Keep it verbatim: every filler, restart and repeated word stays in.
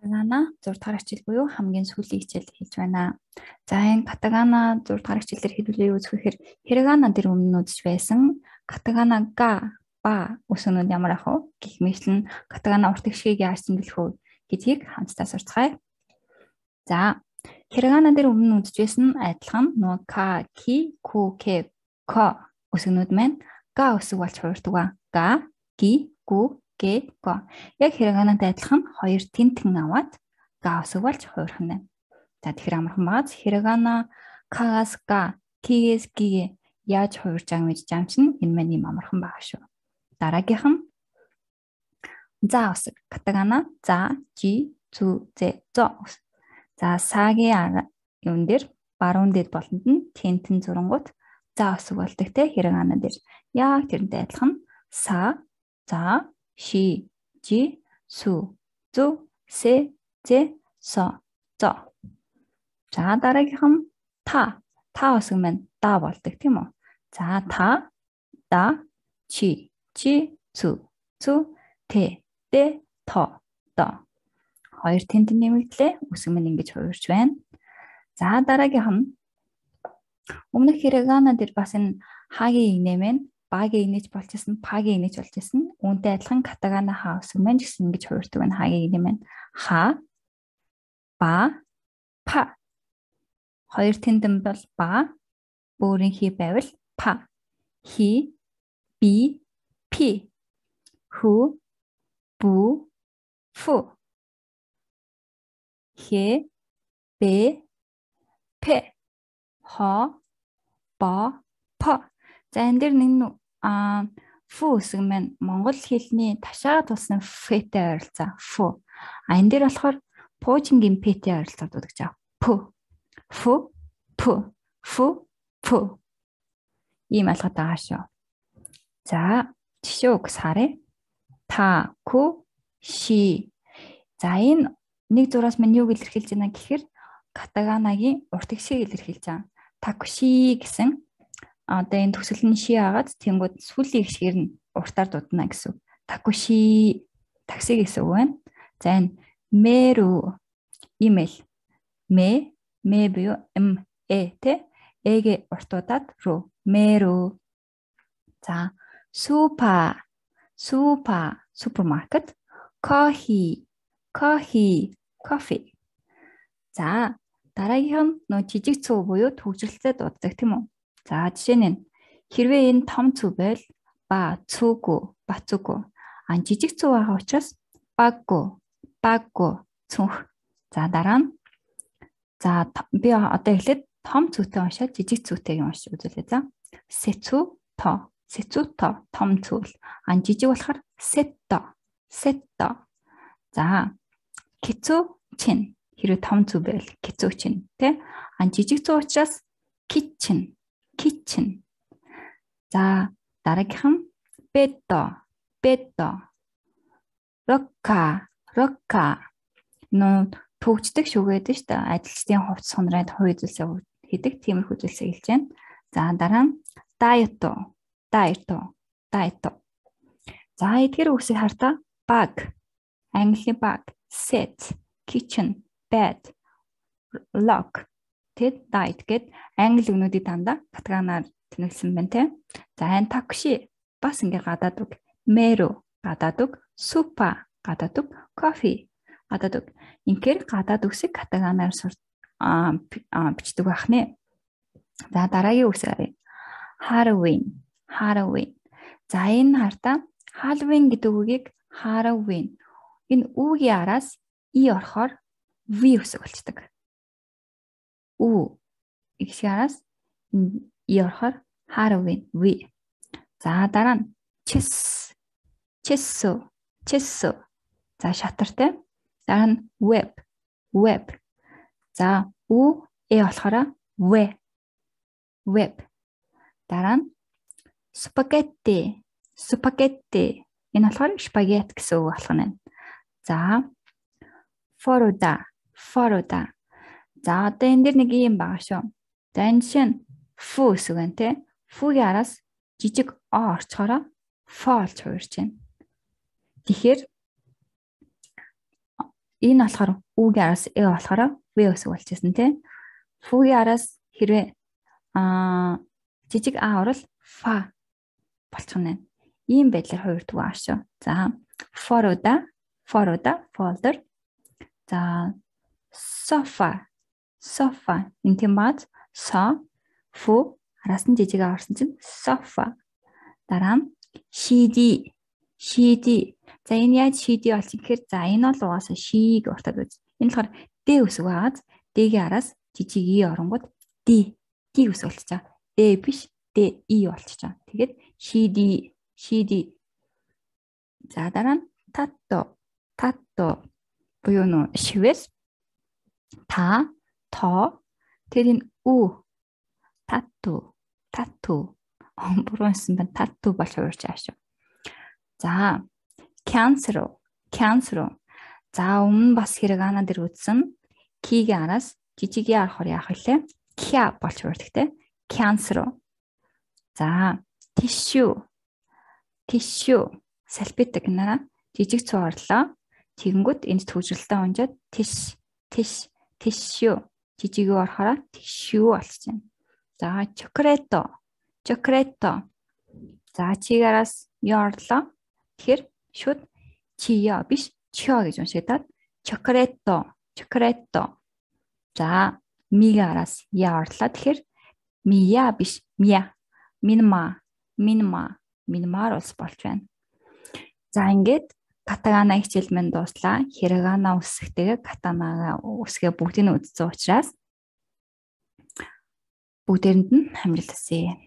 Катагана зураг дахь хичээл буюу хамгийн сүүлийн хичээл хийж байна. За энэ катагана зураг дахь хичээлээр хэлүүлээ үзэхээр hiragana дээр өмнө үзэж байсан катагана га ба үсгэнүүд ямар ах вэ? Гэх мэтлэн катагана урт гişгийг яаж тэмдэглэх вэ гэдгийг хамтдаа сурцгаая. За hiragana дээр өмнө үзэж байсан адилхан нөгөө ka, ki, ku, ke, ko үсгэнүүд маань га үсэг болж хуурдаг ба. Ga, ki, ku, ke, ko. Яг hiraganaтай адилхан хоёр тентэн аваад га үсэг болж хуурах нь байна. За тэгэхээр амархан бааз hiragana ka-гаас ga, ki-гээс ki-гээ яаж хуурж байгааг мэдж байгаа юм чинь энэ маань юм амархан байгаа шүү. Дараагийнх нь за үсэг катагана за, жи, цү, зэ, зо. За сагийн юм дээр баруун дэд болонд нь тентэн зурангууд за үсэг болдог те hiragana дээр. Яг тэрнтэй адилхан са, за, ши, жи, су, зу, се, зе, со, зо. За дараагийнх нь та. Та үсэг маань да болдог тийм үү? За та, да, чи, чи, цу, цу, те, де, то, до. Хоёр тентэн нэмэгдлээ үсэг маань ингэж хуурж байна. За дараагийнх нь өмнөх hiragana дээр бас энэ хагийн игнэмэн багийн игнэж болчихсон, пагийн игнэж болчихсон. Үүнтэй адилхан катагана ха үсэг маань гэсэн ингэж хуурдаг байна. Хагийн игнэмэн ха, ба, па. Хоёр тентэн бол ба, өөрийн хий байвал па. Хи, би, пи. Ху, бу, фу. Хе, бе, пе. Хо, бо, по. За энэ дэр нэг а фу үсэг маань монгол хэлний ташаа туссан фэтэй ойролцоо фу. А энэ дэр болохоор пуужингийн пэтэй ойролцоо дуудаж байгаа. Пу. Фу, пу, фу, пу. Ийм алгад байгаа шүү. За жишээ үг сарэ. Та, ку, ши. За энэ нэг зураас маань юу илэрхийлж байна гэхээр катаганагийн урт гişгийг илэрхийлж байгаа. Такуши гэсэн одоо энэ төгсөл нь ши агаад тэнгууд сүүлийн гişгээр нь уртаар дуудана гэсэн. Такуши такси гэсэн үг байна. За энэ мэру имэйл мэ мэ буюу м э тэ эгэ уртуудаад ру мэру. За супа супа супермаркет кофе кофе кофе. За дараагийнх нь нөө жижиг цүү буюу төгжрэлтэй дууддаг тийм үү? За жишээ нь хэрвээ энэ том цүү байвал ба цүгү бацүгү. А жижиг цүү байгаа учраас баггу баггу цүнх. За дараа нь за би одоо эхлээд том цүүтэй уншаад жижиг цүүтэйг уншиж үзүүлээ. За сэцү то сэцү то том цүүл. А жижиг болохоор сетто сетто. За кицү чин хэрвээ том цүү байвал кицү чин тэ. А жижиг цүү учраас kitchen kitchen. За дараагийнх нь бедо бедо. Рокка рокка. Нөө төгждөг шүгээд нь шүү дээ. Ажилчдын хувцас сонроод хувь зүйлсээ хийдэг тиймэрхүү зүйлсээ хэлж байна. За дараа нь дайето дайето дайето. За эдгээр үгсийг хартаа bag англи bag, set, kitchen, bed, lock, тэд diet гэд англи үгнүүдийг дандаа катаганаар тэнэглэсэн байна те. За энэ такси бас ингээ гадаад үг, meru гадаад үг, supa гадаад үг, coffee гадаад үг. Инхээр гадаад үгсийг катаганаар сур а бичдэг байх нэ. За дараагийн үгс харъя. Halloween, Halloween. За энэ хартаа Halloween гэдэг үгийг Halloween. Энэ үгийн араас и орохоор v үсэг болчдөг. Ү ихшиг араас и орохоор Halloween v. За дараа нь chess, chesso, chesso. За шатартай. Дараа нь web, web. За ү э болохоор вэ, web. Дараа нь spaghetti, spaghetti. Энэ болохоор спагетти гэсэн үг болох нь. За форода, форода. За одоо энэ дэр нэг юм байгаа шүү. За энэ чинь фу гэсэн үг те. Фугийн араас жижиг о орчхороо фо болж хуурч байна. Тэгэхээр энэ болохоор үгийн араас э болохоор в өсөг болчихсон тийм. Фугийн араас хэрвээ аа жижиг а орол фа болчих нь. Ийм байдлаар хоёр түг аашаа. За форуда, форуда, folder. За sofa, sofa. Энэ тийм бааз со фу араас нь жижиг а орсон чинь sofa. Дараа нь cd, cd. За энэ яаж cd болсон гэхээр за энэ бол угаасаа шиг уртад үз. Энэ болохоор д өсөг байгааз д-ийн араас жижиг и оронгууд д, д өсөг болчихоо. д биш д и болчихоо. Тэгээд cd, cd. За дараа нь татто, татто. Буюу нөө шивээс та, то. Тэр энэ ү тату, тату. Буруусан байна. Тату болж хуурч аашаа. За cancel, cancel. За өмнө бас хэрэг ана дээр үтсэн. Кигийн араас жижиг яа орохоор яах вэ? Кя болж хуурдаг те. Cancel. За tissue, tissue. Салфетик нара жижиг цуу орлоо. Тэгэнгүүт энд төвжрэлтэй унжаад тиш, тиш, tissue. Жижиг юу орохоор tissue болж байна. За чоколато, чоколато. За чигараас юу орлоо? Тэгэхээр шууд чиё биш чиё гэж уншигдаад чоколато, чоколато. За мигараас я орлоо. Тэгэхээр мия биш мия. Минма, минма, минмаар ус болж байна. За ингээд катагана хичээл минь дууслаа. Хирогана үсгтэйгээ катанага үсгээ бүгдийг нь үзсэн учраас бүгдээрэнд нь хамжилт хүсье.